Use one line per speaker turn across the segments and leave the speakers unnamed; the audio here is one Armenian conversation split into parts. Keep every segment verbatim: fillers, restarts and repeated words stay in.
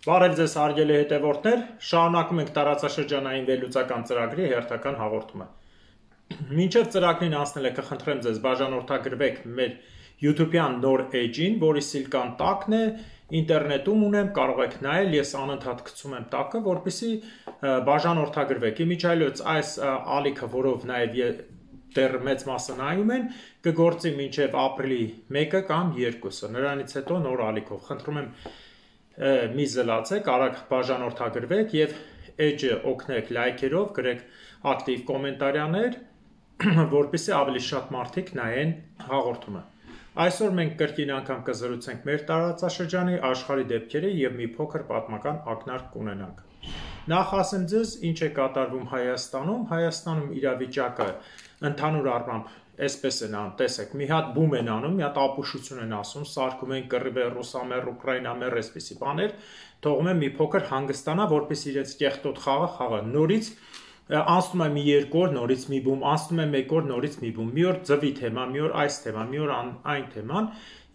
Բարև ձեզ հարգելի հետևորդներ, շարունակում ենք տարածաշրջանային վերլուծական ծրագրի հերթական հաղորդումը։ Մինչև ծրագրին անցնել եք, կխնդրեմ ձեզ բաժանորդագրվեք մեր YouTube-յան նոր էջին, որի սիլկան տակն է, ինտերնետում ունեմ, կարող եք նայել, ես անընդհատ գցում եմ տակը, որպեսզի բաժանորդագրվեք։ Իմիջիայլոց այս ալիքը, որով նաև դեռ մեծ մասը նայում են, կգործի մինչև ապրիլի մեկը կամ երկուսը, նրանից հետո նոր ալիքով։ Խնդրում եմ մի զլացեք, արագ բաժանորդագրվեք եւ էջը օգնեք լայքերով, գրեք ակտիվ կոմենտարիաներ, որպեսզի ավելի շատ մարդիկ նայեն հաղորդումը։ Այսօր մենք կրկին անգամ կզրուցենք մեր տարածաշրջանի աշխարհի դեպքերը եւ մի փոքր պատմական ակնարկ կունենանք։ Նախ ասեմ ձեզ, ինչ է կատարվում Հայաստանում։ Հայաստանում իրավիճակը ընդհանուր առմամբ այսպես են անում, տեսեք, մի հատ բում են անում, մի հատ ապուշություն են ասում, սարքում են կռիվ, ռուսամեր, ուկրաինամեր, այսպիսի բաներ, թողում են մի փոքր հանգստանա, որպես իրենց կեղտոտ խաղը խաղա։ Նորից անցնում է մի երկու օր, նորից մի բում, անցնում է մեկ օր, նորից մի բում։ Մի օր ձվի թեմա, մի օր այս թեման, մի օր այն թեման։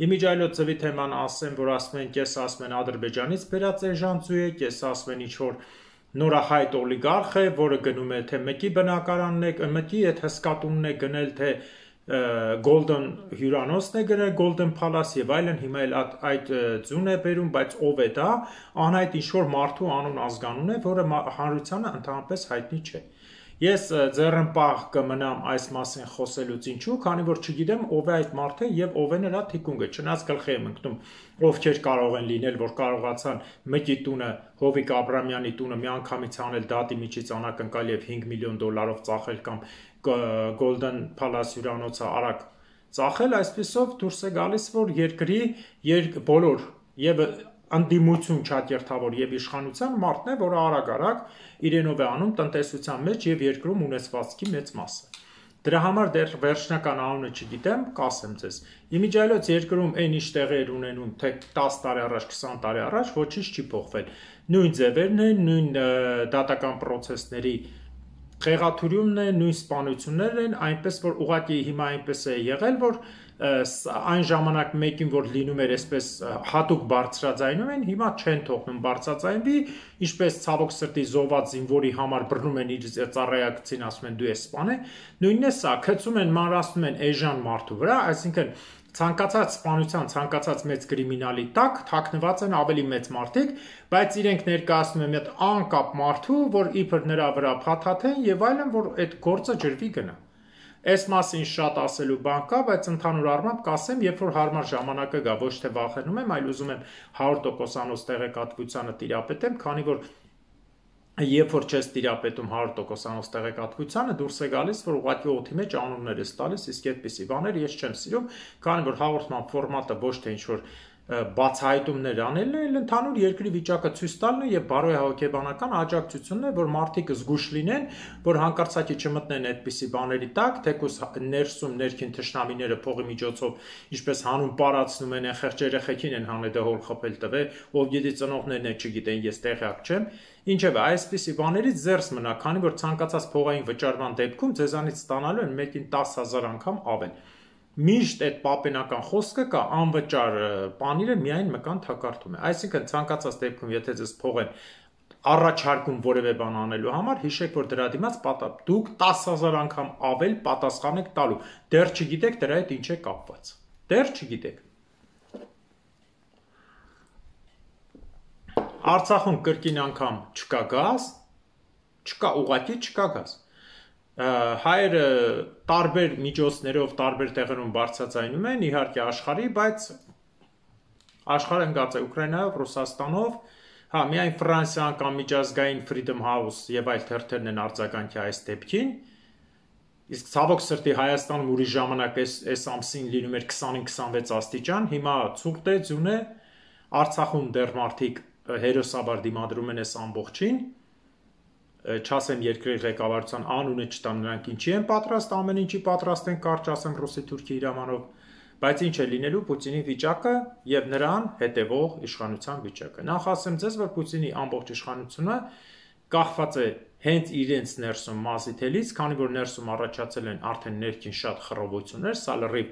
Իմիջիայլոց ձվի թեման ասեմ, որ ասում են, կես ասում են Ադրբեջանից բերած էժանցու է, կես ասում են ինչ որ նորահայտ օլիգարխ է, որը գնում է թե մեկի բնակարանն է, մեկի այդ հսկատունն է գնել, թե Golden հյուրանոցն է գրել, Golden Palace եւ այլն, հիմա էլ այդ ձուն է բերում, բայց ով է դա, անհայտ ինչ-որ մարդու անուն ազգանուն է, որը հանրությանը ընդհանրապես հայտնի չէ։ Ես ձեռնպահ կմնամ այս մասին խոսելուց, ինչու, քանի որ չգիտեմ ով է այդ մարդը եւ ով է նրա թիկունքը, չնայած գլխի եմ ընկնում, ովքեր կարող են լինել, որ կարողացան մեկի տունը, Հովիկ Աբրամյանի տունը միանգամից անել դատի միջից անակնկալ եւ հինգ միլիոն դոլարով ծախել կամ Golden Palace հյուրանոցը արագ ծախել, այսպեսով դուրս է գալիս, որ երկրի բոլոր եւ անդիմություն չաթերթավոր եւ իշխանության մարդն է, որը արագ-արագ իրենով է անում տնտեսության մեջ եւ երկրում ունեցվածքի մեծ մասը։ Դրա համար դեռ վերջնական անունը չգիտեմ, կասեմ ձեզ։ Իմիջիայլոց երկրում այն ինչ տեղի էր ունենում թե տասը տարի առաջ, քսան տարի առաջ, ոչինչ չի փոխվել։ Նույն ձևերն են, նույն դատական պրոցեսների խեղաթյուրումն է, նույն սպանություններն են, այնպես որ ուղղակի հիմա այնպես է եղել, որ այն ժամանակ մեկին որ լինում էր այսպես հատուկ բարձրաձայնում են, հիմա չեն թողնում բարձրաձայնվի, ինչպես ցավոք սրտի զոհված զինվորի համար բռնում են իր ծառայակցին, ասում են դու ես սպանե, նույնն է սա, գցում են, մանրացնում են էժան մարդու վրա, այսինքն ցանկացած սպանության, ցանկացած մեծ կրիմինալի տակ թաքնված են ավելի մեծ մարդիկ, բայց իրենք ներկայացնում են մի հատ անկապ մարդու, որ իբր նրա վրա փաթաթեն եւ այլն, որ այդ գործը ջրվի գնա։ Այս մասին շատ ասելու բան կա, բայց ընդհանուր առմամբ կասեմ, երբ որ հարմար ժամանակը գա, ոչ թե վախենում եմ, այլ ուզում եմ հարյուր տոկոսանոց տեղեկատվությանը տիրապետեմ, քանի որ երբ որ չես տիրապետում հարյուր տոկոսանոց տեղեկատվությանը, դուրս է գալիս, որ ուղղակի օդի մեջ անուններ ես տալիս, իսկ այդպիսի բաներ ես չեմ սիրում, քանի որ հաղորդման ֆորմատը ոչ թե ինչ-որ բացահայտումներ անելն է, այլ ընդհանուր երկրի վիճակը ցույց տալն է եւ բարոյահոգեբանական աջակցությունն է, որ մարդիկ զգուշ լինեն, որ հանկարծակի չմտնեն այդպիսի բաների տակ, թեկուզ ներսում ներքին թշնամիները փողի միջոցով ինչպես հանուն պարացնում են, այն խեղճ երեխեքին են հանեդահոլ խփել տվե, ով գիտի ծնողներն է չգիտեն, ես տեղյակ չեմ։ Ինչևէ, այսպիսի բաներից զերծ մնա, քանի որ ցանկացած փողային վճարման դեպքում ձեզանից ստանալու են մեկին տասը հազար անգամ ավել։ Միշտ այդ պապենական խոսքը կա, անվճար պանիրը միայն մկան թակարդում է։ Այսինքն ցանկացած դեպքում, եթե ձեզ փող են առաջարկում որևէ բան անելու համար, հիշեք, որ դրա դիմաց դուք տասը հազար անգամ ավել պատասխան եք տալու։ Դեռ չգիտեք դրա հետ ինչ է կապված։ Դեռ չգիտեք։ Արցախում կրկին անգամ չկա գազ, չկա ուղղակի չկա գազ։ Հայերը տարբեր միջոցներով, տարբեր տեղերում բարձրաձայնում են, իհարկե աշխարհի, բայց աշխարհը ընկած է Ուկրաինայով, Ռուսաստանով, հա, միայն Ֆրանսիան կամ միջազգային Freedom House եւ այլ թերթերն են արձագանքի այս դեպքին։ Իսկ ցավոք սրտի Հայաստանում ուրիշ ժամանակ այս այս ամսին լինում էր քսանինը քսանվեց աստիճան, հիմա ցուրտ է, ձյուն է, Արցախում դեռ մարդիկ հերոսաբար դիմադրում են այս ամբողջին, չասեմ երկրի ղեկավարության անունը չտամ, նրանք ինչի են պատրաստ, ամեն ինչի պատրաստ են, կարճ ասեմ Ռուսի-Թուրքի հրամանով, բայց ինչ է լինելու Պուտինի վիճակը եւ նրան հետեւող իշխանության վիճակը։ Նախ ասեմ ձեզ, որ Պուտինի ամբողջ իշխանությունը կախված է հենց իրենց ներսում մազի թելից, քանի որ ներսում առաջացել են արդեն ներքին շատ խռովություններ, սա լրիվ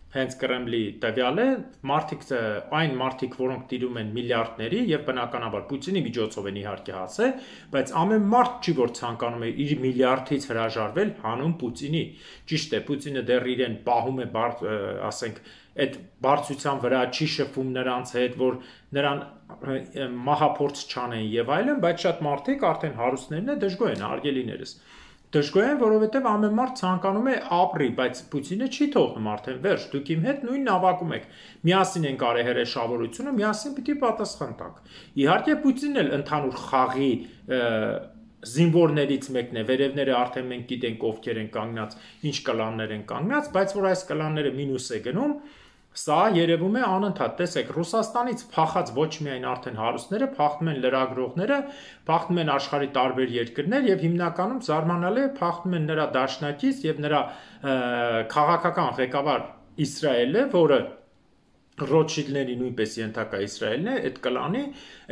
հենց Կրեմլի տվյալ է, մարդիկ այն մարդիկ, որոնք տիրում են միլիարդների եւ բնականաբար Պուտինի միջոցով են իհարկե հասել, բայց ամեն մարդ չի որ ցանկանում է իր միլիարդից հրաժարվել հանուն Պուտինի։ Ճիշտ է, Պուտինը դեռ իրեն պահում է, ասենք, այդ բարձրության վրա չի շփվում նրանց հետ, որ նրան մահափորձ չանեն եւ այլն, բայց շատ մարդիկ արդեն հարուստներն է դժգոհ են, արգելիներս։ Դժգոհ են, որովհետև ամեն մարդ ցանկանում է ապրի, բայց Պուտինը չի թողնում արդեն վերջ, դուք իմ հետ նույն նավակում եք, միասին ենք արել հրեշավորությունը, միասին պիտի պատասխան տանք։ Իհարկե Պուտինն էլ ընդհանուր խաղի զինվորներից մեկն է, վերևները արդեն մենք գիտենք ովքեր են կանգնած, ինչ կլաններ են կանգնած, բայց որ այս կլանները մինուս է գնում, սա երևում է անընդհատ, տեսեք, Ռուսաստանից փախած ոչ միայն արդեն հարուստները, փախնում են լրագրողները, փախնում են աշխարհի տարբեր երկրներ եւ հիմնականում զարմանալի է փախնում են նրա դաշնակից եւ նրա քաղաքական ղեկավար Իսրայելը, որը Ռոթշիլդների նույնպես ենթակա Իսրայելն է, այդ կլանի,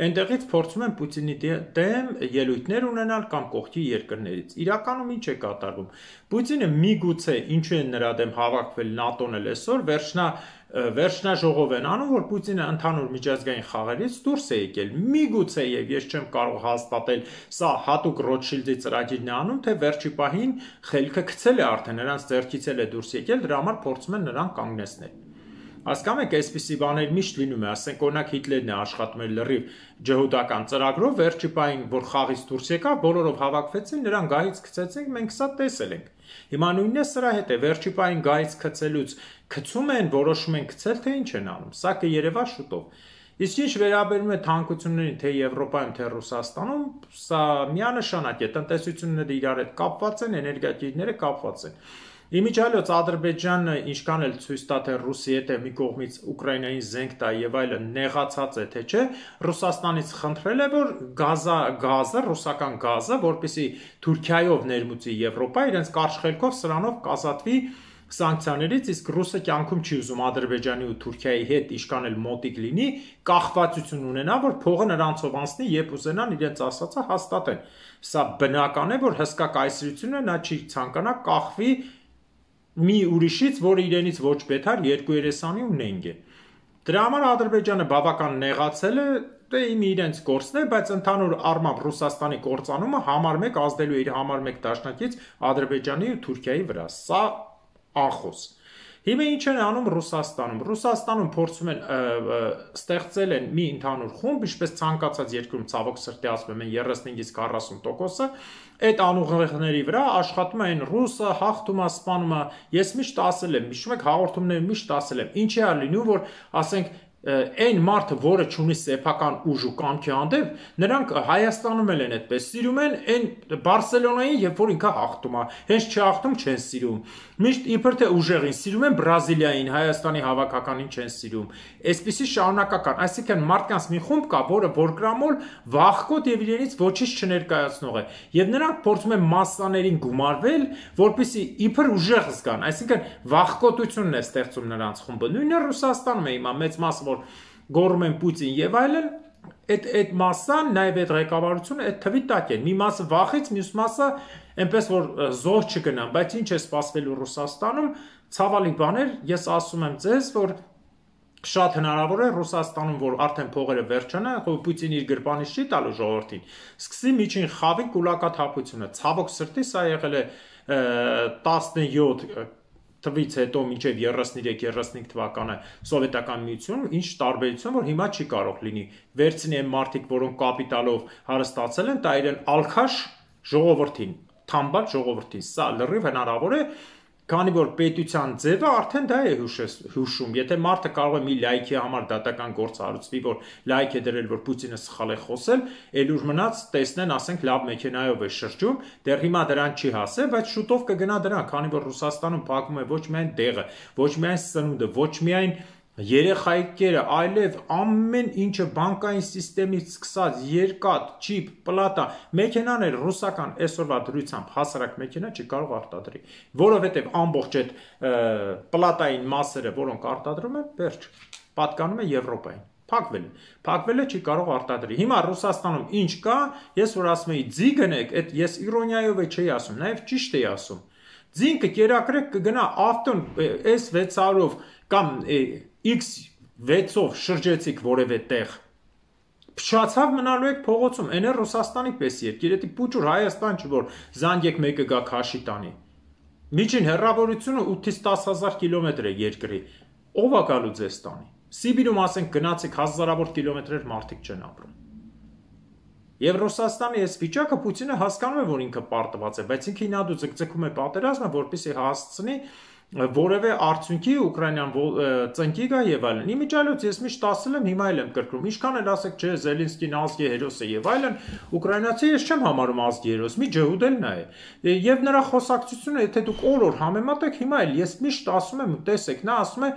այնտեղից փորձում են Պուտինի դեմ ելույթներ ունենալ կամ կողքի երկրներից։ Իրականում ինչ է կատարվում։ Պուտինը միգուցե ինչու են նրա դեմ հավաքվել ՆԱՏՕ-ն էլ այսօր վերջնա վերջնաժողով են անում, որ Պուտինը ընդհանուր միջազգային խաղերից դուրս է եկել։ Միգուցե եւ ես չեմ կարող հաստատել, սա հատուկ Ռոթշիլդի ծրագիրն է անում, թե վերջի պահին խելքը գցել է արդեն, նրանց ձեռքից էլ է դուրս եկել, դրա համար փորձում են նրան կանգնեցնել։ Հասկանում եք, այսպիսի բաներ միշտ լինում է, ասենք օրինակ Հիտլերն է աշխատում էր լրիվ ջհուդական ծրագրով, վերջի պահին որ խաղից դուրս եկավ, բոլորով հավաքվեցին, նրան գահից գցեցին, մենք սա տեսել ենք։ Հիմա նույնն է սրա հետ է, վերջի պահին գահից գցելուց գցում են, որոշում են գցել, թե ինչ են անում։ Սա կերևա շուտով։ Իսկ ինչ վերաբերում է թանկություններին, թե Եվրոպայում, թե Ռուսաստանում, սա միանշանակ է, տնտեսությունները իրար հետ կապված են, էներգետիկները կապված են։ Իմիջիայլոց Ադրբեջանը ինչքան էլ ցույց տա թե Ռուսի հետ է մի կողմից Ուկրաինային զենք տա եւ այլն նեղացած է թե չէ, Ռուսաստանից խնդրել է որ գազա գազը, ռուսական գազը, որպեսզի Թուրքիայով ներմուծի Եվրոպա, իրենց կարճ խելքով սրանով կազատվի սանկցիաներից, իսկ Ռուսը կյանքում չի ուզում Ադրբեջանի ու Թուրքիայի հետ ինչքան էլ մոտիկ լինի, կախվածություն ունենա, որ փողը նրանցով անցնի, երբ ուզենան իրենց ասածը հաստատեն։ Սա բնական է, որ հսկա կայսրությունը նա չի ցանկանա կախվի մի ուրիշից, որը իրենից ոչ բետար երկու երեսանի ու նենգ է։ Դրա համար Ադրբեջանը բավական նեղացել է, դե իմ իրենց գործն է, բայց ընդհանուր առմամբ Ռուսաստանի կործանումը համար մեկ ազդելու իր համար մեկ դաշնակից Ադրբեջանի ու Թուրքիայի վրա։ Սա անխոս։ Հիմա ինչ են անում Ռուսաստանում։ Ռուսաստանում փորձում են ստեղծել են մի ընդհանուր խումբ, ինչպես ցանկացած երկրում ցավոք սրտի ասում են երեսնինից քառասուն տոկոսը, այդ անուղեղների վրա աշխատում են ռուսը, հաղթում է, սպանում է։ Ես միշտ ասել եմ, հիշում եք հաղորդումներում միշտ ասել եմ, ինչի է լինում, որ ասենք այն մարդը, որը ունի սեփական ուժ ու կամքի հանդեպ, նրանք Հայաստանում էլ են այդպես սիրում են այն Բարսելոնային, երբ որ ինքը հաղթում է, հենց չհաղթում չեն սիրում։ Միշտ իբր թե ուժեղին սիրում են Բրազիլիային, Հայաստանի հավաքականին չեն սիրում։ Այսպիսի շարունակական, այսինքն մարդկանց մի խումբ կա, որը որգրամոլ վախկոտ եւ իրենից ոչինչ չներկայացնող է, եւ նրանք փորձում են մասսաներին գումարվել, որպեսզի իբր ուժեղ զգան, այսինքն վախկոտությունն է ստեղծում նրանց խումբը։ Նույնը Ռուսաստանում է հիմա մեծ մասը որ գոռում են Պուտին եւ այլն, այդ այդ մասսան, նաեւ այդ ղեկավարությունը այդ թվի տակ է։ Մի մասը վախից, մյուս մասը այնպես որ զոհ չգնան, բայց ինչ է սպասվելու Ռուսաստանում, ցավալի բաներ, ես ասում եմ ձեզ, որ շատ հնարավոր է Ռուսաստանում, որ արդեն փողերը վերջանա, Պուտինը իր գրպանից չի տալու ժողովրդին, սկսի միջին խավի կուլակաթափությունը։ Ցավոք սրտի սա եղել է տասնյոթ թվից հետո մինչև երեսնյոթ երեսնհինգ թվականը սովետական միությունում, ինչ տարբերություն, որ հիմա չի կարող լինի։ Վերցնի այն մարդիկ, որոնք կապիտալով հարստացել են, տա իրեն ալքաշ ժողովրդին, թամբալ ժողովրդին։ Սա լրիվ հնարավոր է, քանի որ պետության ձևը արդեն դա է հուշում։ Եթե մարդը կարող է մի լայքի համար դատական գործ հարուցվի, որ լայք է դրել, որ Պուտինը սխալ է խոսել, էլ ուր մնաց տեսնեն, ասենք լավ մեքենայով է շրջում, դեռ հիմա դրան չի հասել, բայց շուտով կգնա դրան, քանի որ Ռուսաստանում փակում է ոչ միայն դեղը, ոչ միայն սնունդը, ոչ միայն երեխայքերը, այլև ամեն ինչը բանկային սիստեմից սկսած երկաթ, չիպ, պլատա, մեքենաներ ռուսական այսօրվա դրությամբ հասարակ մեքենա չի կարող արտադրի, որովհետև ամբողջ այդ պլատային մասերը, որոնք արտադրում են, վերջ, պատկանում է Եվրոպային։ Փակվել է, փակվել է չի կարող արտադրի։ Հիմա Ռուսաստանում ինչ կա, ես որ ասում եի ձի գնեք, այդ ես իրոնիայով չէի ասում, նաև ճիշտ էի ասում։ Ձինքը կերակրեք կգնա ավտոն S վեց հարյուրով կամ X վեցով շրջեցիք որևէ տեղ, փչացավ մնալու եք փողոցում, այն է Ռուսաստանի պես երկիր, դա փուճուր Հայաստան չի, որ զանգեք մեկը գա քաշի տանի։ Միջին հեռավորությունը ութից տասը հազար կիլոմետր է երկրի, ով է գալու ձեզ տանի։ Սիբիրում ասենք գնացեք հազարավոր կիլոմետրեր մարդիկ չեն ապրում։ Եվ Ռուսաստանի այս վիճակը Պուտինը հասկանում է, որ ինքը պարտված է, բայց ինքը ինադու ձգձգում է պատերազմը, որպեսզի հասցնի որևէ արդյունքի Ուկրաինան ծնկի գա եւ այլն։ Իմիջիայլոց ես միշտ ասել եմ, հիմա էլ եմ կրկնում, ինչքան էլ ասեք, չէ, Զելենսկին ազգի հերոս է եւ այլն, ուկրաինացի ես չեմ համարում ազգի հերոս, մի ջհուդել նա է։ Եվ նրա խոսակցությունը, եթե դուք օր-օր համեմատեք, հիմա էլ ես միշտ ասում եմ, տեսեք, նա ասում է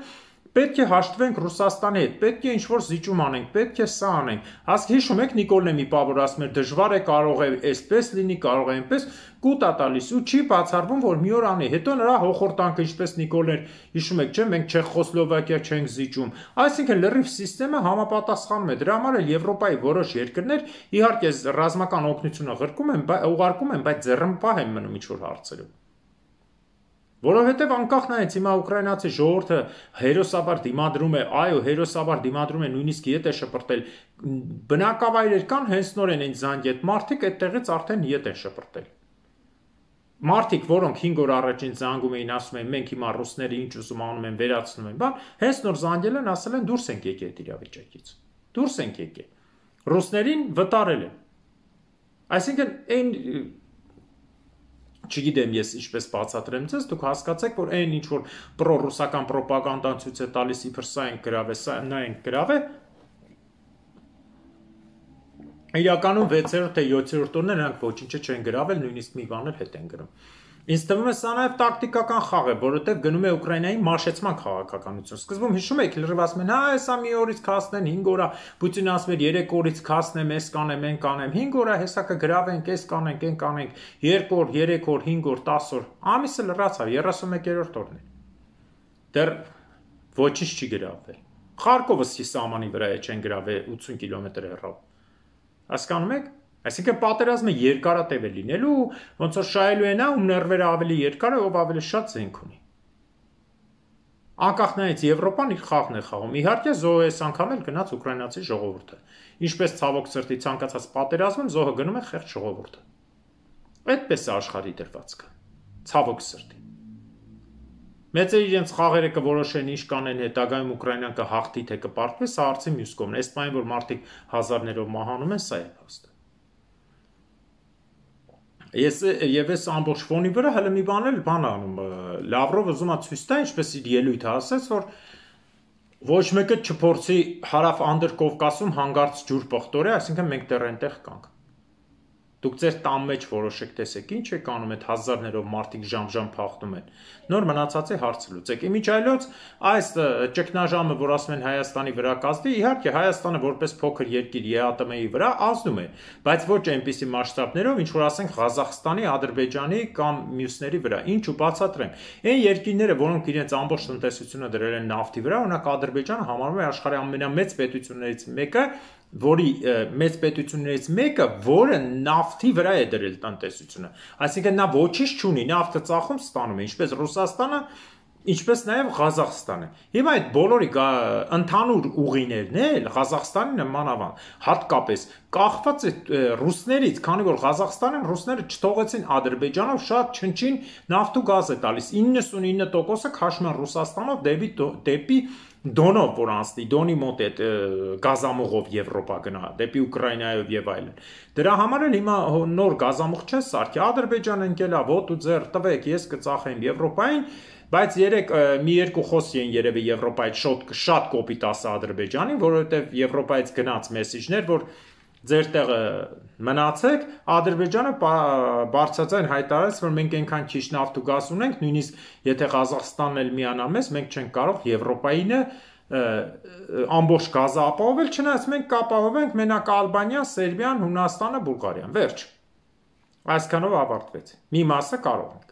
պետք է հաշտվենք Ռուսաստանի հետ, պետք է ինչ-որ զիջում անենք, պետք է սա անենք։ Հասկ հիշում եք Նիկոլն մի պավոր ասում էր, դժվար է, կարող է այսպես լինի, կարող է այնպես, կուտ է տալիս ու չի բացառվում, որ մի օր անի։ Հետո նրա հոխորտանքը, ինչպես Նիկոլն էր, հիշում եք, չէ՞, մենք Չեխոսլովակիա չենք զիջում։ Այսինքն լրիվ սիստեմը համապատասխանում է։ Դրա համար էլ Եվրոպայի որոշ երկրներ իհարկե ռազմական օգնությունը ղրկում են, ուղարկում են, բայց ձեռնպահ են մնում ինչ-որ հարցերում։ Որովհետև անկախ նայեց հիմա ուկրաինացի ժողովուրդը հերոսաբար դիմադրում է, այո, հերոսաբար դիմադրում է, նույնիսկ ետ է շպրտել, բնակավայրեր կան, հենց նորեն են զանգետ մարդիկ այդտեղից արդեն ետ են շպրտել։ Մարդիկ, որոնք հինգ օր առաջին զանգում էին, ասում են, մենք հիմա ռուսները ինչ ուզում անում են, վերացնում են, բան, հենց նոր զանգել են, ասել են դուրս ենք եկել այդ իրավիճակից։ Դուրս ենք եկել։ Ռուսներին վտարել են։ Այսինքն այն չգիտեմ ես ինչպես բացատրեմ ձեզ, դուք հասկացեք, որ այն ինչ որ պրոռուսական ռոպագանդան ցույց է տալիս, իբր սա են գրավ է, սա նա են գրավ է, իրականում վեցերորդ թե յոթերորդ օրն նրանք ոչինչ չեն գրավել, նույնիսկ մի բան էլ հետ են գրում։ Ինձ թվում է սա նաև տակտիկական խաղ է, որովհետև գնում է Ուկրաինայի մաշեցման քաղաքականություն։ Սկզբում հիշում եք, լրիվ ասում են, հա, հեսա մի օրից քասնեն, հինգ օր է, Պուտինը ասում էր երեք օրից քասնեմ, էս կանեմ, են կանեմ, հինգ օր է, հեսա կգրավենք, էս կանենք, են կանենք, երկու օր, երեք օր, հինգ օր, տասը օր։ Ամիսը լրացավ, երեսունմեկերորդ օրն է։ Դեռ ոչինչ չի գրավել։ Խարկովը սահմանի վրա է, չեն գրավել ութսուն կիլոմետր հեռավ։ Հասկանում եք։ Այսինքն պատերազմը երկարատև է լինելու, ոնց որ շահելու է նա, ում ներվերը ավելի երկար է, ով ավելի շատ զենք ունի։ Անկախ նայից Եվրոպան իր խաղն է խաղում։ Իհարկե զոհը այս անգամ էլ գնաց ուկրաինացի ժողովուրդը։ Ինչպես ցավոք սրտի ցանկացած պատերազմում զոհը գնում է խեղճ ժողովուրդը։ Այդպես է աշխարհի դրվածքը։ Ցավոք սրտի։ Մեծերը իրենց խաղերը կորոշեն ինչ կանեն հետագայում Ուկրաինան կհաղթի թե կպարտվի, սա արծի մյուս կողմն է։ Այս պայն որ մարդիկ հազարներով մահանում են, սա է փաստը։ Ես եւ այս ամբողջ ֆոնի վրա հələ մի բան էլ բան անում Լավրովը ուզում է ցույց տա ինչպես իր ելույթը ասաց որ ոչ մեկը չփորձի հարավ Անդրկովկասում հանգարց ջուր պղտորի, այսինքն մենք դեռ այնտեղ կանք։ Դուք ձեր տան մեջ որոշեք տեսեք ինչ եք անում այդ հազարներով մարդիկ ժամ-ժամ փախնում են։ Նոր մնացածի հարցը լուծեք։ Իմիջայլոց այս ճգնաժամը, որ ասում են Հայաստանի վրա կազդի, իհարկե Հայաստանը որպես փոքր երկիր ԵԱՏՄ-ի վրա ազդում է, բայց ոչ այնպիսի մասշտաբներով, ինչ որ ասենք Ղազախստանի, Ադրբեջանի կամ մյուսների վրա։ Ինչու բացատրեմ։ Այն երկիրները, որոնք իրենց ամբողջ տնտեսությունը դրել են նավթի վրա, օրինակ Ադրբեջանը համարվում է աշխարհի ամենամեծ պետություններից մեկը, որի մեծ պետություններից մեկը, որը նավթի վրա է դրել տնտեսությունը։ Այսինքն նա ոչինչ չունի, նավթը ծախում ստանում է, ինչպես Ռուսաստանը, ինչպես նաև Ղազախստանը։ Հիմա այդ բոլորի ընդհանուր ուղիներն էլ Ղազախստանի նմանավան, հատկապես կախված է ռուսներից, քանի որ Ղազախստանում ռուսները չթողեցին Ադրբեջանով շատ չնչին նավթ ու գազ է տալիս, իննսունինը տոկոսը քաշում են Ռուսաստանով դեպի դեպի Դոնով որ անցնի, Դոնի մոտ այդ գազամուղով Եվրոպա գնա, դեպի Ուկրաինայով եւ այլն։ Դրա համար էլ հիմա նոր գազամուղ չես սարքի, Ադրբեջանը ընկելա, ոտու ձեռ տվեք, ես կծախեմ Եվրոպային, բայց երեք մի երկու խոսի են երևի Եվրոպայից շատ շատ կոպիտ ասա Ադրբեջանին, որովհետեւ Եվրոպայից գնաց մեսիջներ, որ ձեր տեղը մնացեք, Ադրբեջանը բարձրաձայն հայտարարեց, որ մենք այնքան քիչ նավթ ու գազ ունենք, նույնիսկ եթե Ղազախստանն էլ միանա մեզ, մենք չենք կարող Եվրոպայինը ամբողջ գազը ապահովել, չնայած մենք կապահովենք մենակ Ալբանիան, Սերբիան, Հունաստանը, Բուլղարիան, վերջ։ Այսքանով ավարտվեց։ Մի մասը կարող ենք։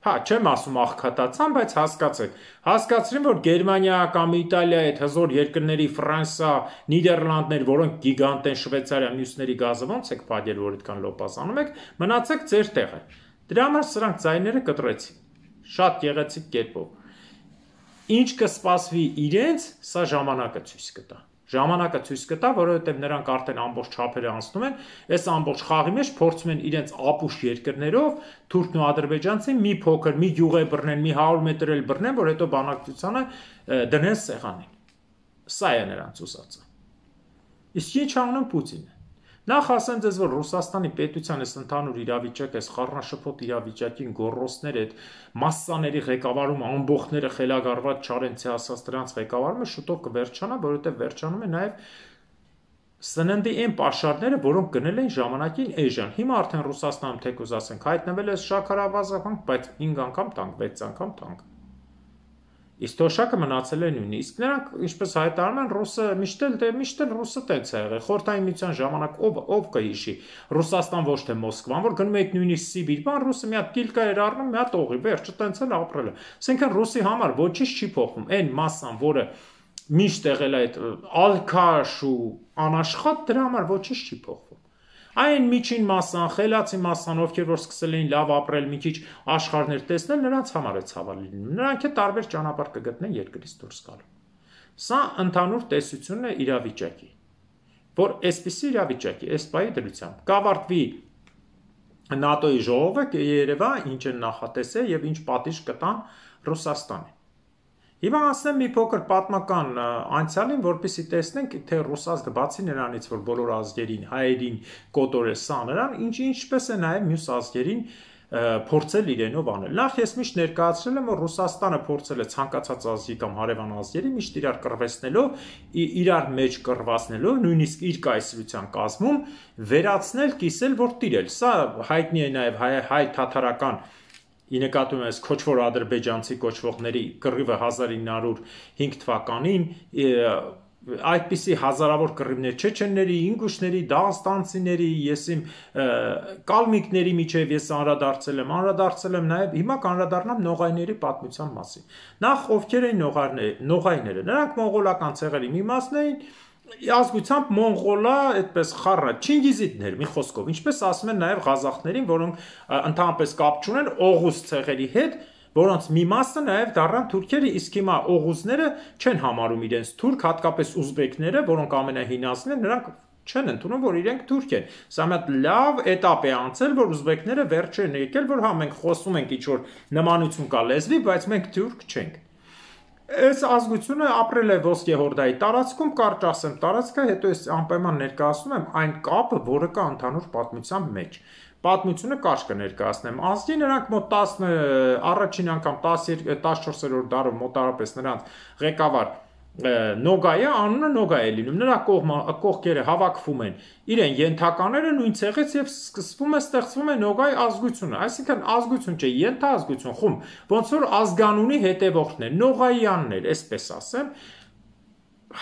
Հա, չեմ ասում աղքատացան, բայց հասկացեք, հասկացրին, որ Գերմանիա կամ Իտալիա այդ հզոր երկրների Ֆրանսիա, Նիդերլանդներ, որոնք գիգանտ են, Շվեյցարիա, մյուսների գազը ոնց եք փակել, որ այդքան լոպասանում եք, մնացեք ձեր տեղը։ Դրա համար սրանք ձայները կտրեցին, շատ գեղեցիկ կերպով։ Ինչ կսպասվի իրենց, սա ժամանակը ցույց կտա։ Ժամանակը ցույց կտա, որովհետև նրանք արդեն ամբողջ չափերը անցնում են, այս ամբողջ խաղի մեջ փորձում են իրենց ապուշ երկրներով թուրքն ու ադրբեջանցին մի փոքր, մի գյուղ բռնեն, մի հարյուր մետր էլ բռնեն, որ հետո բանակցությանը դնեն սեղանին։ Սա է նրանց ուզածը։ Իսկ ինչ անում Պուտինը։ Նախ ասեմ ձեզ, որ Ռուսաստանի պետության այս ընդհանուր իրավիճակը, այս խառնաշփոթ իրավիճակին գոռոցներ այդ մասսաների ղեկավարում ամբողջները խելագարված Չարենցի ասած դրանց ղեկավարումը շուտով կվերջանա, որովհետև վերջանում է նաև սննդի այն պաշարները, որոնք գնել են ժամանակին էժան։ Հիմա արդեն Ռուսաստանում թեկուզ ասենք հայտնվել է շաքարավազանք, բայց հինգ անգամ տանկ, վեց անգամ տանկ։ Իսկ թոշակը մնացել է նույնը։ Իսկ նրանք, ինչպես հայտարարում են, ռուսը միշտ էլ դե միշտ էլ ռուսը տենց է եղել։ Խորհրդային միության ժամանակ ով ով կհիշի Ռուսաստան ոչ թե Մոսկվան, որ գնում եք նույնիսկ Սիբիր, բան ռուսը մի հատ կիլկա էր առնում, մի հատ օղի, վերջը տենց էլ ապրել է։ Այսինքն ռուսի համար ոչինչ չի փոխվում։ Այն մասսան, որը միշտ եղել է այդ ալքաշ ու անաշխատ, դրա համար ոչինչ չի փոխվում։ Այն միջին մասսան, խելացի մասսան, ովքեր որ սկսել էին լավ ապրել, մի քիչ աշխարհներ տեսնել, նրանց համար է ցավալի լինում։ Նրանք է տարբեր ճանապարհ կգտնեն երկրից դուրս գալու։ Սա ընդհանուր տեսությունն է իրավիճակի, որ այսպիսի իրավիճակի, այս պայի դրությամբ կավարտվի ՆԱՏՕ-ի ժողովը, կերևա ինչ են նախատեսել եւ ինչ պատիժ կտան Ռուսաստանին։ Հիմա ասեմ մի փոքր պատմական անցյալին, որպեսզի տեսնենք, թե ռուսազգը բացի նրանից, որ բոլոր ազգերին, հայերին կոտորել սա նրան, ինչ ինչպես է նաև մյուս ազգերին փորձել իրենով անել։ Նախ ես միշտ ներկայացրել եմ, որ Ռուսաստանը փորձել է ցանկացած ազգի կամ հարևան ազգերի միշտ իրար կռվեցնելով, իրար մեջ կռվածնելով, նույնիսկ իր կայսրության կազմում վերացնել, կիսել, որ տիրել։ Սա հայտնի է նաև հայ, հայ թաթարական ի նկատի ունես քոչվոր ադրբեջանցի կոչվողների կռիվը հազար ինը հարյուր հինգ թվականին, այդպիսի հազարավոր կռիվներ չեչենների, ինգուշների, դաղստանցիների, ես իմ կալմիկների միջև ես անդրադարձել եմ, անդրադարձել եմ նաև հիմա կանդրադառնամ նողայների պատմության մասին։ Նախ ովքեր էին նողայները, նրանք մոնղոլական ցեղերի մի մասն էին, ազգությամբ մոնղոլա, այդպես խառը, չինգիզիդներ, մի խոսքով, ինչպես ասում են նաև ղազախներին, որոնք ընդհանրապես կապ չունեն օղուզ ցեղերի հետ, որոնց մի մասը նաև դառան թուրքերը, իսկ հիմա օղուզները չեն համարում իրենց թուրք, հատկապես ուզբեկները, որոնք ամենահինասն են, նրանք չեն ընդունում, որ իրենք թուրք են։ Սա մի հատ լավ էտապ է անցել, որ ուզբեկները վերջ են եկել, որ հա մենք խոսում ենք ինչ-որ նմանություն կա լեզվի, բայց մենք թուրք չենք։ Այս ազգությունը ապրել է ոսկեհորդայի տարածքում, կարճ ասեմ տարածքը, հետո ես անպայման ներկայացնում եմ այն կապը, որը կա ընդհանուր պատմության մեջ։ Պատմությունը կարճ կներկայացնեմ։ Ազգի նրանք մոտ տասը առաջին անգամ տասնչորսերորդ դարում մոտարապես նրանց ղեկավար Նոգայը, անունը Նոգայ է լինում, նրա կողքերը հավաքվում են իրեն ենթակաները նույն ցեղից եւ սկսվում է ստեղծվում է Նոգայ ազգությունը, այսինքն ազգություն չէ, ենթազգություն, խումբ, ոնց որ ազգանունի հետևորդներ, Նոգայաններ, այսպես ասեմ,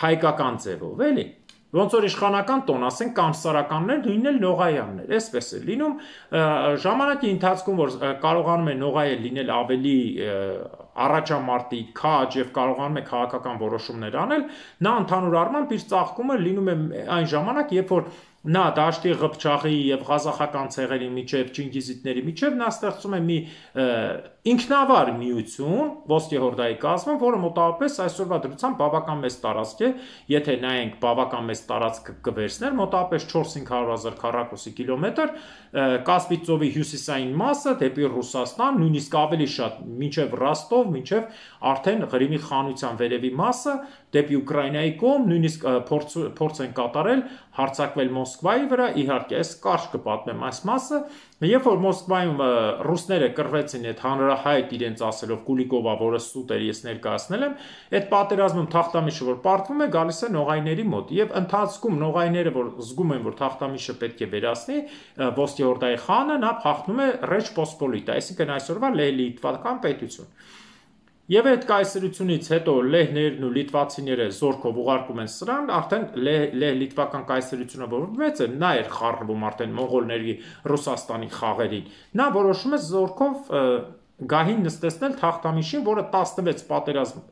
հայկական ձևով, էլի։ Ոնց որ իշխանական տոն, ասենք կամսարականներ, նույնն էլ Նողայաններ, այսպես է լինում, ժամանակի ընթացքում, որ կարողանում է Նողայը լինել ավելի առաջամարտի քաջ եւ կարողանում է քաղաքական որոշումներ անել, նա ընդհանուր առմամբ իր ծաղկումը լինում է այն ժամանակ, երբ որ նա դաշտի Ղփչաղի եւ ղազախական ցեղերի միջև, չինգիզիտների միջև նա ստեղծում է մի ինքնավար միություն, ոսկեհորդայի կազմում, որը մոտավորապես այսօրվա դրությամբ բավական մեծ տարածք է, եթե նայենք բավական մեծ տարածք կվերցներ, մոտավորապես չորս-հինգ հարյուր հազար քառակուսի կիլոմետր, Կասպից ծովի հյուսիսային մասը դեպի Ռուսաստան, նույնիսկ ավելի շատ, մինչև Ռոստով, մինչև արդեն Ղրիմի խանության վերևի մասը, դեպի Ուկրաինայի կողմ, նույնիսկ փորձ, փորձ են կատարել հարձակվել Մոսկվայի վրա, իհարկե, այս կարճ կպատմեմ այս մասը, երբ որ Մոսկվայում ռուսները կռվեցին այդ հանրահայտ իրենց ասելով Կուլիկովա, որը սուտ էր, ես ներկայացնել եմ, այդ պատերազմում թախտամիշը, որ պարտվում է, գալիս է նողայների մոտ, եւ ընթացքում նողայները, որ զգում են, որ թախտամիշը պետք է վերացնի, ոսկեհորդայի խանը, նա փախնում է Ռեջ Պոսպոլիտա, այսինքն այսօրվա Լեհ-Լիտվական պետություն։ Եվ այդ կայսրությունից հետո լեհներն ու լիտվացիները զորքով ուղարկում են սրան, արդեն լեհ-լիտվական կայսրությունը, որ մեծ է, նա էր խառնվում արդեն մոնղոլների Ռուսաստանի խաղերին, նա որոշում է զորքով գահին նստեցնել թախտամիշին, որը տասնվեց պատերազմ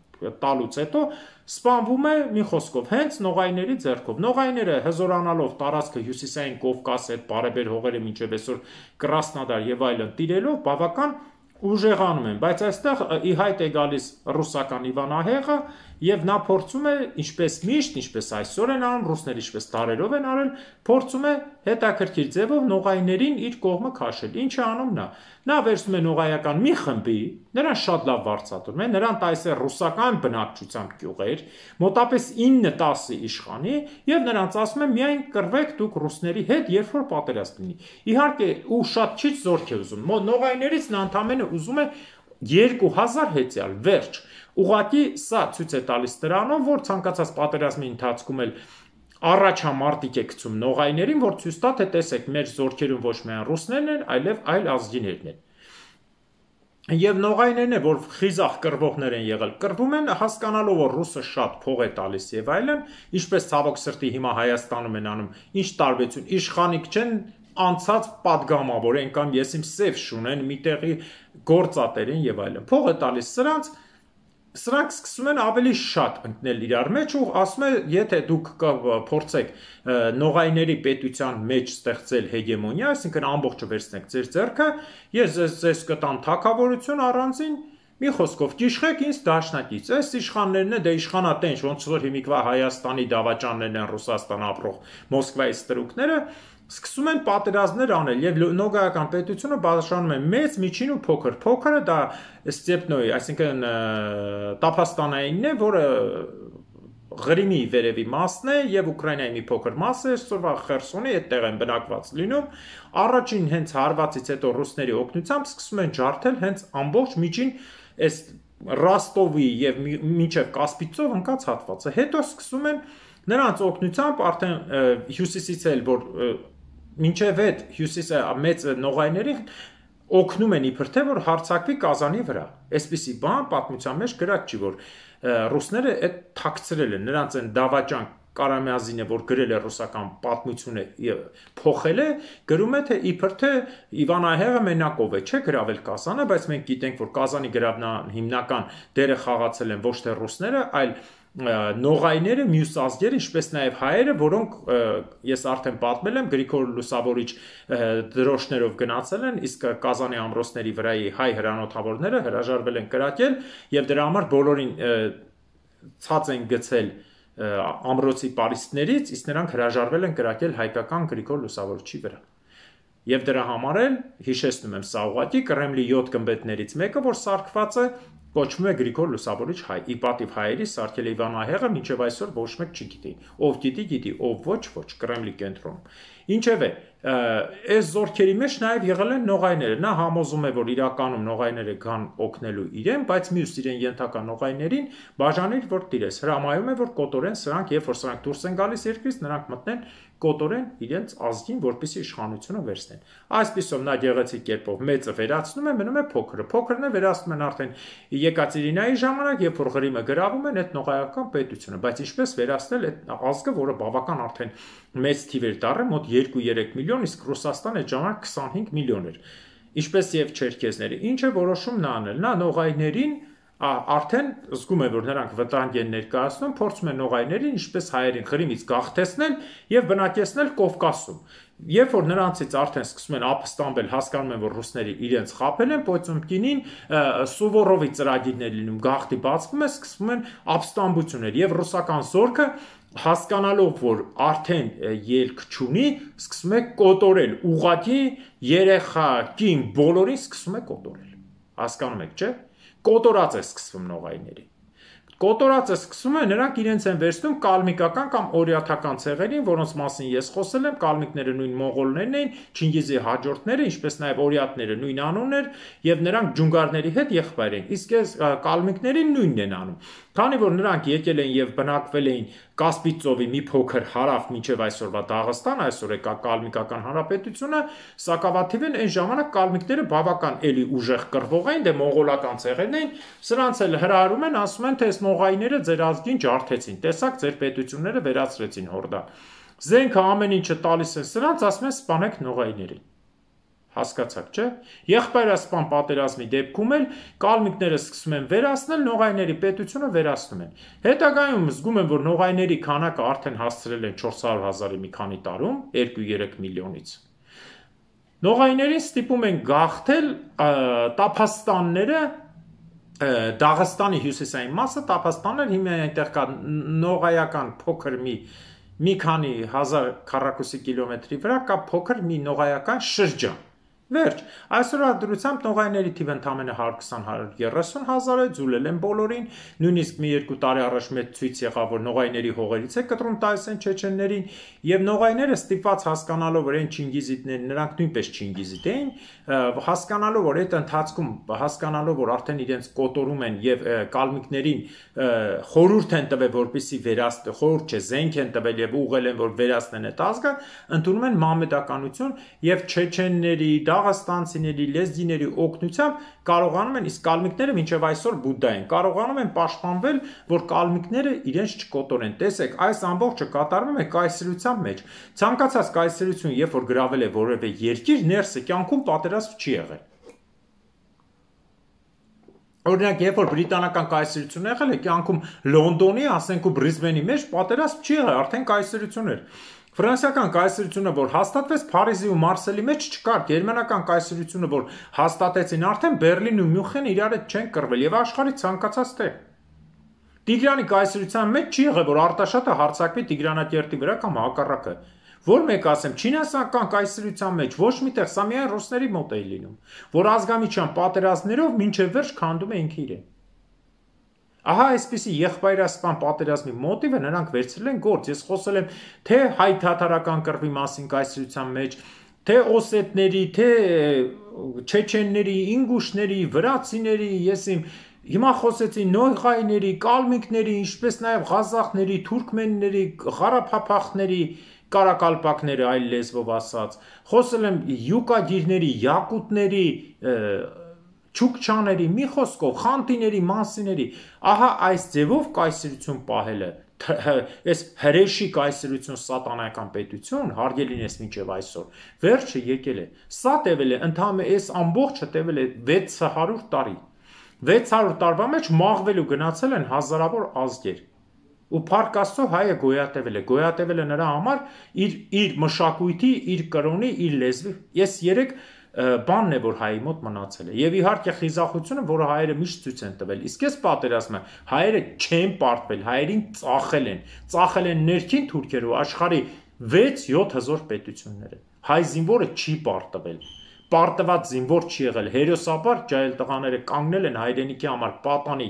տալուց հետո սպանվում է մի խոսքով հենց նողայների ձեռքով։ Նողայները հզորանալով տարածքը հյուսիսային Կովկասի հետ բարեբեր հողերը մինչև այսօր Կրասնոդար եւ այլն տիրելով բավական ուժեղանում են, բայց այստեղ ի հայտ է գալիս ռուսական Իվանահեղը եւ նա փորձում է, ինչպես միշտ, ինչպես այսօր են անում, ռուսները ինչպես դարերով են արել, փորձում է հետաքրքիր ձևով նողայներին իր կողմը քաշել։ Ինչ է անում նա։ Նա վերցնում է նողայական մի խմբի, նրան շատ լավ վարձատրում է, նրան տալիս է ռուսական բնակչությամբ գյուղեր, մոտապես ինը տասը իշխանի եւ նրանց ասում է միայն կռվեք դուք ռուսների հետ, երբ որ պատերազմ լինի։ Իհարկե, ու շատ քիչ զորք է ուզում։ Նողայներից նա ընդամենը ուզում է երկու հազար հեծյալ, վերջ։ Ուղղակի սա ցույց է տալիս դրանով, որ ցանկացած պատերազմի ընթացքում էլ առաջամարտիկ է գցում նողայներին, որ ցույց տա, թե տեսեք, մեր զորքերում ոչ միայն ռուսներն են, այլև այլ ազգիներն են։ Եվ նողայներն է, որ խիզախ կռվողներ են եղել, կռվում են հասկանալով, որ ռուսը շատ փող է տալիս եւ այլն, ինչպես ցավոք սրտի հիմա Հայաստանում են անում, ինչ տարբերություն, իշխանիկ չեն անցած падգամավոր են կամ ես իմ սև շունեն միտեղի գործատեր են եւ այլն։ Փող է տալիս սրանց, սրանք սկսում են ավելի շատ ընկնել իրար մեջ ու ասում է, եթե դուք փորձեք նողայների պետության մեջ ստեղծել հեգեմոնիա, այսինքն ամբողջը վերցնեք ձեր ձեռքը, ես ձեզ ձեզ կտամ թագավորություն առանձին, մի խոսքով ճիշխեք ինձ դաշնակից, այս իշխաններն է, դե իշխանատենչ, ոնց որ հիմիկվա Հայաստանի դավաճաններն են Ռուսաստան ապրող Մոսկվայի ստրուկները, սկսում են պատերազմներ անել եւ նոգայական պետությունը բաժանում է մեծ, միջին ու փոքր։ Փոքրը դա Ստեպնոյի, այսինքն Տափաստանայինն է, որը Ղրիմի վերևի մասն է եւ Ուկրաինայի մի փոքր մասը, այսօրվա Խերսոնի այդտեղ են բնակված լինում։ Առաջին հենց հարվածից հետո ռուսների օգնությամբ սկսում են ջարդել հենց ամբողջ միջին այս Ռոստովի եւ մինչեւ Կասպիցով ընկած հատվածը։ Հետո սկսում են նրանց օգնությամբ արդեն հյուսիսից էլ որ մինչև այդ հյուսիսը մեծ նողայների օգնում են իբր թե որ հարձակվի Կազանի վրա։ Այսպիսի բան պատմության մեջ գրած չի, որ ռուսները այդ թաքցրել են, նրանց են դավաճան Կարամյազինը, որ գրել է ռուսական պատմությունը եւ փոխել է, գրում է թե իբր թե Իվանահեղը մենակով է, չէ գրավել Կազանը, բայց մենք գիտենք, որ Կազանի գրավման հիմնական դերը խաղացել են ոչ թե ռուսները, այլ նողայները, մյուս ազգերը, ինչպես նաև հայերը, որոնք ես արդեն պատմել եմ, Գրիգոր Լուսավորիչ դրոշներով գնացել են, իսկ Կազանի ամրոցների վրայի հայ հրանոթավորները հրաժարվել են կրակել եւ դրա համար բոլորին ցած են գցել ամրոցի պարիսպներից, իսկ նրանք հրաժարվել են կրակել հայկական Գրիգոր Լուսավորիչի վրա։ Եվ դրա համար էլ հիշեցնում եմ սա ուղղակի Կրեմլի յոթ գմբեթներից մեկը, որ սարքված է, կոչվում է Գրիգոր Լուսավորիչ հայ, ի պատիվ հայերի սարքել է Իվանահեղը, մինչև այսօր ոչ մեկ չգիտի, ով գիտի, գիտի, ով ոչ, ոչ, Կրեմլի կենտրոնում։ Ինչևէ, այս զորքերի մեջ նաև եղել են նողայները, նա համոզում է, որ իրականում նողայները կան օգնելու իրեն, բայց մյուս իրեն ենթակա նողայներին բաժանել, որ տիրես, հրամայում է, որ կոտորեն սրանք, երբ որ սրանք դուրս են գալիս երկրից, նրանք մտնեն կոտորեն իրենց ազգին, որպեսզի իշխանությունը վերցնեն։ Այսպիսով նա գեղեցիկ կերպով մեծը վերացնում է, մնում է փոքրը։ Փոքրն է վերացնում են արդեն Եկատերինայի ժամանակ, երբ որ Ղրիմը գրավում են այդ նողայական պետությունը, բայց ինչպես վերացնել այդ ազգը, որը բավական արդեն մեծ թիվ էր դառել, մոտ երկու-երեք միլիոն, իսկ Ռուսաստանը այդ ժամանակ քսանհինգ միլիոն էր։ Ինչպես եւ չերքեզները։ Ինչ է որոշում նա անել։ Նա նողայներին արդեն զգում է, որ նրանք վտանգ են ներկայացնում, փորձում են նողայներին, ինչպես հայերին Ղրիմից գաղթեցնել եւ բնակեցնել Կովկասում։ Երբ որ նրանցից արդեն սկսում են ապստամբել, հասկանում են, որ ռուսները իրենց խաբել են, Պոյծոմկինին Սուվորովի ծրագիրներ լինում, գաղթի բացվում է, սկսվում են ապստամբություններ եւ ռուսական զորքը հասկանալով, որ արդեն ելք չունի, սկսում է կոտորել, ուղղակի երեխա, կին, բոլորին սկսում է կոտորել։ Հասկանում եք, չէ՞։ Կոտորած է սկսվում նողայների։ Կոտորած է սկսում է, նրանք իրենց են վերցնում կալմիկական կամ օրիաթական ցեղերին, որոնց մասին ես խոսել եմ, կալմիկները նույն մոնղոլներն էին, Չինգիզի հաջորդները, ինչպես նաև օրիաթները նույն անուններ, եւ նրանք ջունգարների հետ եղբայր են։ Իսկ այս կալմիկներին նույնն են անում։ Քանի որ նրանք եկել են եւ բնակվել էին Կասպից ծովի մի փոքր հարավ մինչև այսօրվա Դաղստան, այսօր է կալմիկական հանրապետությունը, սակավաթիվ են այն ժամանակ կալմիկները բավական էլի ուժեղ կռվող էին, դե մոնղոլական ցեղերն էին, սրանց էլ հրահարում են, ասում են, թե այս նողայները ձեր ազգին ջարդեցին, տեսակ ձեր պետությունները վերացրեցին հորդա։ Զենքը ամեն ինչը տալիս են սրանց, ասում են սպանեք նողայներին։ Հասկացաք, չէ՞։ Եղբայրասպան պատերազմի դեպքում էլ կալմիկները սկսում են վերացնել, նողայների պետությունը վերացնում են։ Հետագայում զգում են, որ նողայների քանակը արդեն հասցրել են չորս հարյուր հազարի մի քանի տարում, երկու-երեք միլիոնից։ Նողայներին ստիպում են գաղթել Տափաստանները, Դաղստանի հյուսիսային մասը, Տափաստաններ, հիմա այնտեղ կա նողայական փոքր մի մի քանի հազար քառակուսի կիլոմետրի վրա կա փոքր մի նողայական շրջան։ Վերջ, այսօրվա դրությամբ նողայների թիվը ընդամենը հարյուր քսան - հարյուր երեսուն հազար է, ձուլել են բոլորին, նույնիսկ մի երկու տարի առաջ մեծ ցույց եղավ, որ նողայների հողերից է կտրում Տայսեն չեչեններին, եւ նողայները ստիպված հասկանալով, որ այն չինգիզիտներն նրանք նույնպես չինգիզիտ էին, հասկանալով, որ այդ ընթացքում հասկանալով, որ արդեն իրենց կոտորում են եւ կալմիկներին խորհուրդ են տվել, որպեսզի վերացնեն, խորհուրդ չէ, զենք են տվել եւ ուղղել են, որ վերացնեն այդ ազգը, ընդունում են մամեդականություն եւ չեչենների Դաղստանցիների, լեզգիների օգնությամբ կարողանում են, իսկ կալմիկները մինչև այսօր բուդդա են, կարողանում են պաշտպանվել, որ կալմիկները իրենց չկոտորեն։ Տեսեք, այս ամբողջը կատարվում է կայսրության մեջ։ Ցանկացած կայսրություն, երբ որ գրավել է որևէ երկիր, ներսը կյանքում պատերազմ չի եղել։ Օրինակ, երբ որ բրիտանական կայսրությունն եղել է, կյանքում Լոնդոնի, ասենք ու Բրիսբենի մեջ պատերազմ չի եղել, արդեն կայսրություն էր։ Ֆրանսիական կայսրությունը, որ հաստատվեց Փարիզի ու Մարսելի մեջ չկար, գերմանական կայսրությունը, որ հաստատեցին արդեն Բերլին ու Մյունխեն իրար հետ չեն կռվել եւ աշխարհի ցանկացած տեղ։ Տիգրանի կայսրության մեջ չի եղել, որ Արտաշատը հարձակվի Տիգրանակերտի վրա կամ հակառակը։ Որ մեկ ասեմ, Չինաստանական կայսրության մեջ ոչ միտեղ սա միայն ռուսների մոտ է լինում, որ ազգամիջյան պատերազմներով մինչև վերջ քանդում է ինքը իրեն։ Ահա այսպիսի եղբայրասպան պատերազմի մոտիվը նրանք վերցրել են գործ։ Ես խոսել եմ թե հայ-թաթարական կռվի մասին կայսրության մեջ, թե օսետների, թե չեչենների, ինգուշների, վրացիների, ես իմ հիմա խոսեցի նոյղայների, կալմիկների, ինչպես նաև ղազախների, թուրքմենների, ղարաբաղների, կարակալպակները այլ լեզվով ասած, խոսել եմ յուկագիրների, յակուտների, չուկչաների, մի խոսքով, խանտիների, մանսիների, ահա այս ձևով կայսրություն պահելը, այս հրեշի կայսրություն սատանայական պետություն, հարգելին ես մինչև այսօր, վերջը եկել է, սա տևել է, ընդհանրապես այս ամբողջը տևել է վեց հարյուր տարի, վեց հարյուր տարվա մեջ մաղվել ու գնացել են հազարավոր ազգեր, ու Փառք Աստծո հայը գոյատևել է, գոյատևել է նրա համար իր, իր մշակույթի, իր կրոնի, իր լեզվի, ես երեք բանն է, որ հայի մոտ մնացել է, եւ իհարկե խիզախությունը, որը հայերը միշտ ցույց են տվել, իսկ այս պատերազմը հայերը չեն պարտվել, հայերին ծախել են, ծախել են ներքին թուրքերը ու աշխարհի վեց-յոթ հզոր պետությունները, հայ զինվորը չի պարտվել, պարտված զինվոր չի եղել, հերոսաբար ջահել տղաները կանգնել են հայրենիքի համար պատանի,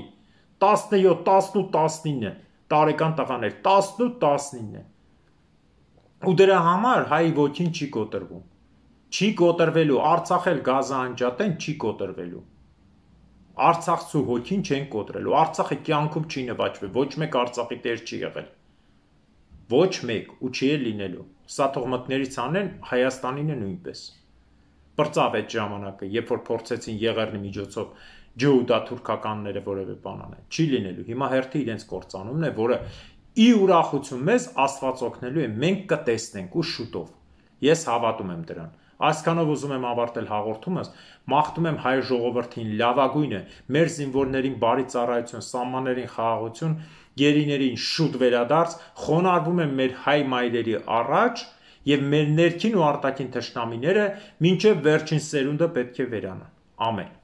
տասնյոթ, տասնութ, տասնինը տարեկան տղաներ, տասնութ, տասնինը, ու դրա համար հայի ոգին չի կոտրվում, չի կոտրվելու, Արցախել գազը անջատեն, չի կոտրվելու, Արցախցու հոգին չեն կոտրելու, Արցախը կյանքում չի նվաճվել, ոչ մեկ Արցախի տեր չի եղել, ոչ մեկ ու չի էլ լինելու, սա թող մտներից անեն, Հայաստանինը նույնպես, պրծավ այդ ժամանակը, երբ որ փորձեցին Եղեռնի միջոցով ջհուդա-թուրքականները որևէ բան անեն, չի լինելու, հիմա հերթը իրենց կործանումն է, որը ի ուրախություն մեզ Աստված օգնելու է, մենք կտեսնենք ու շուտով, ես հավատում եմ դրան, այսքանով ուզում եմ ավարտել հաղորդումս, մաղթում եմ հայ ժողովրդին լավագույնը, մեր զինվորներին բարի ծառայություն, սահմաններին խաղաղություն, գերիներին շուտ վերադարձ, խոնարհվում եմ մեր հայ մայրերի առաջ եւ մեր ներքին ու արտաքին թշնամիները մինչեւ վերջին սերունդը պետք է վերանան, ամեն